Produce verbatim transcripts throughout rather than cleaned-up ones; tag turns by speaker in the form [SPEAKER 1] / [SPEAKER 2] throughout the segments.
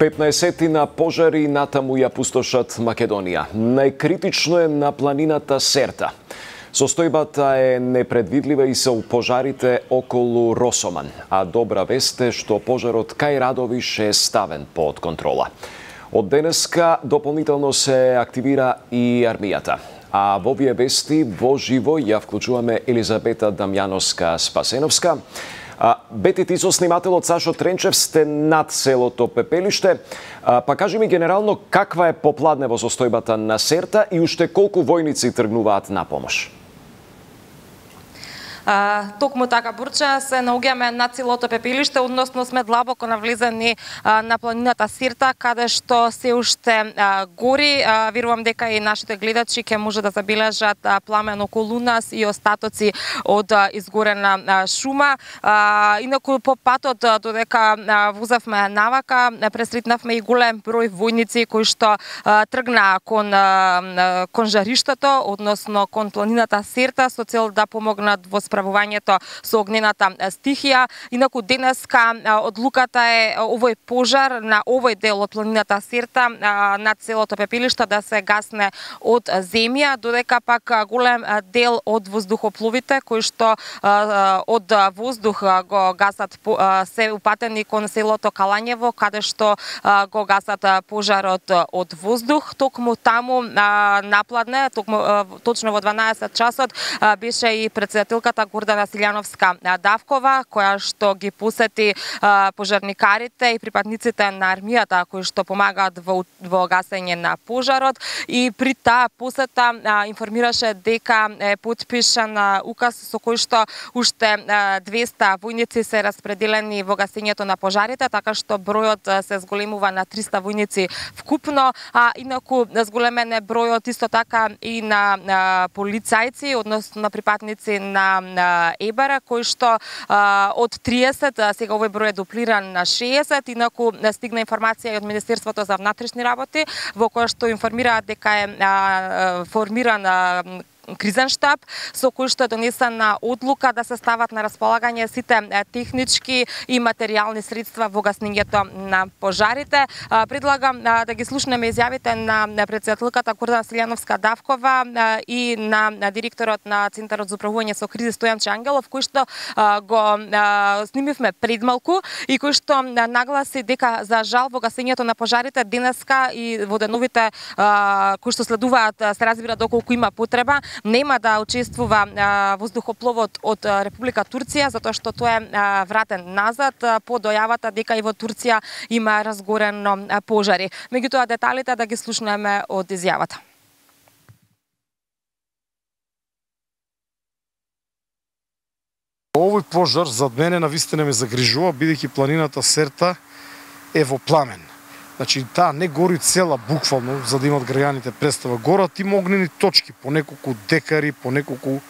[SPEAKER 1] петнаесеттина пожари натаму ја пустошат Македонија. Најкритично е на планината Серта. Состојбата е непредвидлива и се у пожарите околу Росоман, а добра вест е што пожарот кај Радовиш е ставен под контрола. Од денеска дополнително се активира и армијата. А во овие вести во живо ја вклучуваме Елизабета Дамјановска-Спасеновска. Бети, ти со снимателот Сашо Тренчев сте над селото Пепелиште. Па кажи ми генерално каква е попладнево состојбата на Серта и уште колку војници тргнуваат на помош?
[SPEAKER 2] А, токму така, Бурча, се наоѓаме на селото Пепелиште, односно сме длабоко навлезени а, на планината Серта, каде што се уште а, гори. А, верувам дека и нашите гледачи ќе може да забележат а, пламен околу нас и остатоци од а, изгорена а, шума. А, инаку по патот а, додека а, возевме навака, пресретнавме и голем број војници кои што а, тргнаа кон, а, кон жариштето, односно кон планината Серта, со цел да помогнат во справувањето со огнената стихија. Инаку денеска одлуката е овој пожар на овој дел од планината Серта над селото Пепелиште да се гасне од земја, додека пак голем дел од воздухопловите кои што од воздух го гасат се упатени кон селото Калањево, каде што го гасат пожарот од воздух. Токму таму напладне, токму точно во дванаесет часот беше и председателката Гордана Силјановска-Давкова, која што ги посети а, пожарникарите и припадниците на армијата кои што помагаат во, во гасење на пожарот, и при таа посета а, информираше дека е потпишан а, указ со кој што уште а, двеста војници се распределени во гасењето на пожарите, така што бројот а, се зголемува на триста војници вкупно, а инаку зголемен е бројот исто така и на, на полицајци, односно на припадници на на ЕБАРА, кој што а, од триесет, а, сега овој број е дуплиран на шеесет, инаку стигна информација и од Министерството за внатрешни работи, во која што информираат дека е а, формиран а, кризен штаб, со кој што е донесена одлука да се стават на располагање сите технички и материјални средства во гаснењето на пожарите. Предлагам да ги слушнеме изјавите на председателката Гордана Силјановска-Давкова и на директорот на Центарот за управување со кризи Стојанче Ангелов, кој што го снимивме предмалку и кој што нагласи дека за жал во гасењето на пожарите денеска и во деновите кои што следуваат се разбира доколку има потреба, нема да учествува а, воздухопловот од а, Република Турција, затоа што тој е а, вратен назад а, по дојавата дека и во Турција има разгорено а, пожари. Меѓутоа деталите да ги слушнеме од изјавата.
[SPEAKER 3] Овој пожар зад мене навистина ме загрижува, бидејќи планината Серта е во пламен. Значи, таа не гори цела буквално, за да имат граѓаните представа. Горат има огнени точки, по неколку декари, по неколку,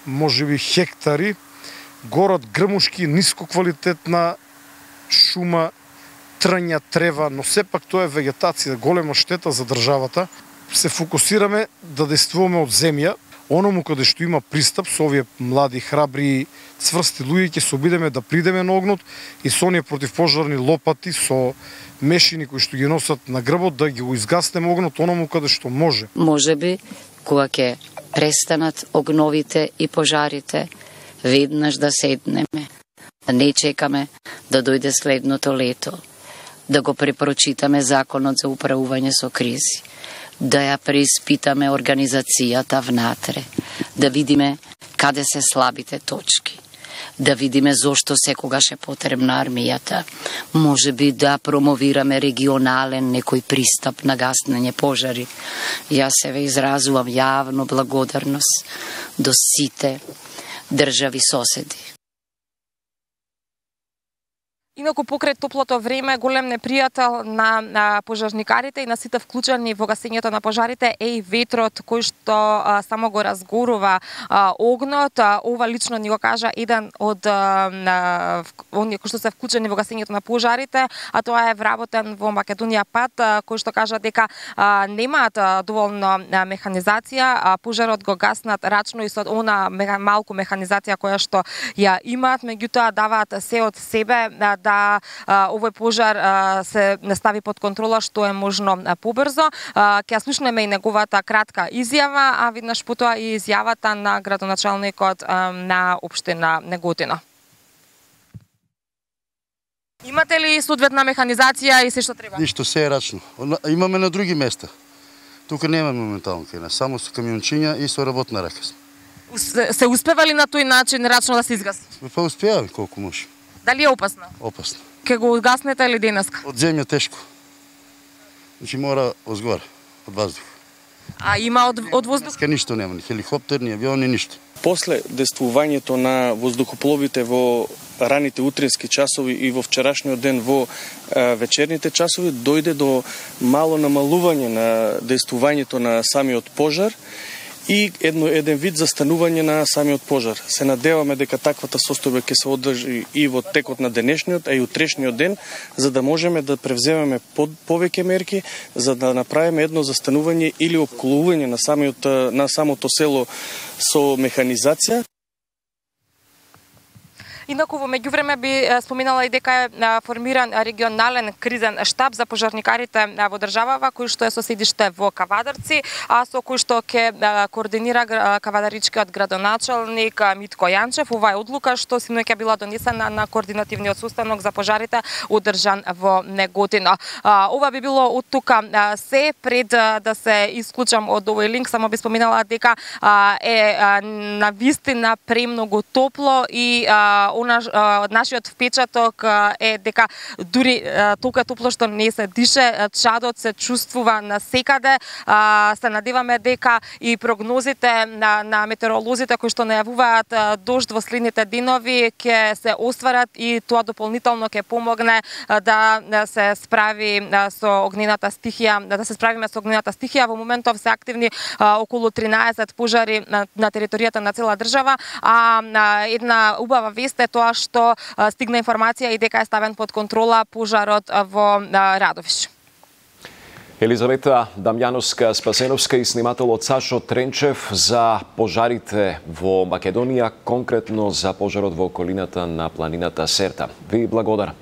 [SPEAKER 3] можеби, хектари. Горат грмушки, ниско квалитетна шума, трња, трева, но сепак тоа е вегетација, голема штета за државата. Се фокусираме да действуваме од земја, оному каде што има пристап со овие млади, храбри, цврсти луѓе, ќе се обидеме да придеме на огнот и со оние противпожарни лопати, со мешини кои што ги носат на грбот, да ги го изгаснеме огнот оному каде што може.
[SPEAKER 4] Можеби, кога ќе престанат огновите и пожарите, веднаш да седнеме, да не чекаме да дојде следното лето, да го препрочитаме законот за управување со кризи, да ја преиспитаме организацијата внатре, да видиме каде се слабите точки, да видиме зошто секогаш е потребна армијата, може би да промовираме регионален некој пристап на гаснење пожари. Јас се ве изразувам јавно благодарност до сите држави соседи.
[SPEAKER 2] Инаку покрај топлото време, голем непријател на, на пожарникарите и на сите вклучени во гасењето на пожарите е и ветрот кој што а, само го разгорува а, огнот. А, ова лично ни го кажа еден од а, оние кои што се вклучени во гасењето на пожарите, а тоа е вработен во Македонија пат, а, кој што кажа дека а, немаат а, доволно а, механизација, а пожарот го гаснат рачно и со она меха, малку механизација која што ја имаат, меѓутоа даваат се од себе а, да овој пожар се стави под контрола што е можно побрзо. Ќе слушнеме и неговата кратка изјава, а виднаш потоа и изјавата на градоначалникот на општина Неготино. Имате ли соодветна механизација и се што треба?
[SPEAKER 5] Ништо, се е рачно. Имаме на други места. Тука немаме моментално кај нас, само со камиончиња и со работна рака.
[SPEAKER 2] Се, се успева ли на тој начин рачно да се изгаси?
[SPEAKER 5] Па успеаваме колку може.
[SPEAKER 2] Дали е опасно?
[SPEAKER 5] Опасно.
[SPEAKER 2] Ке го угаснете или денеска?
[SPEAKER 5] Од земја тешко. Значи мора озгоре, од воздух.
[SPEAKER 2] А има од, од воздух?
[SPEAKER 5] Денеска ништо нема, ни хеликоптер, ни авиони, ништо.
[SPEAKER 6] После действувањето на воздухопловите во раните утрински часови и во вчерашниот ден во е, вечерните часови дојде до мало намалување на действувањето на самиот пожар и едно еден вид застанување на самиот пожар. Се надеваме дека таквата состојба ќе се одржи и во текот на денешниот, а и утрешниот ден, за да можеме да превземеме под, повеќе мерки, за да направиме едно застанување или опколување на самиот на самото село со механизација.
[SPEAKER 2] Инаку во меѓувреме би споминала и дека е формиран регионален кризен штаб за пожарникарите во државава, кој што е со седиште во Кавадарци, а со кој што ќе координира кавадаричкиот градоначалник Митко Јанчев. Ова е одлука што синоќа била донесена на координативниот состанок за пожарите одржан во Неготино. Ова би било од тука се. Пред да се исклучам од овој линк, само би споминала дека е навистина премногу топло и од нашиот впечаток е дека дури толку топло што не се дише, чадот се чувствува насекаде. Се надеваме дека и прогнозите на, на метеоролозите кои што најавуваат дожд во следните денови ќе се остварат и тоа дополнително ќе помогне да се справи со огнената стихија, да се справиме со огнената стихија. Во моментов се активни околу тринаесет пожари на, на територијата на цела држава, а една убава вест е тоа што стигна информација и дека е ставен под контрола пожарот во Радовиш.
[SPEAKER 1] Елизавета Дамјановска-Спасеновска и снимателот Сашо Тренчев за пожарите во Македонија, конкретно за пожарот во околината на планината Серта. Ви благодарам.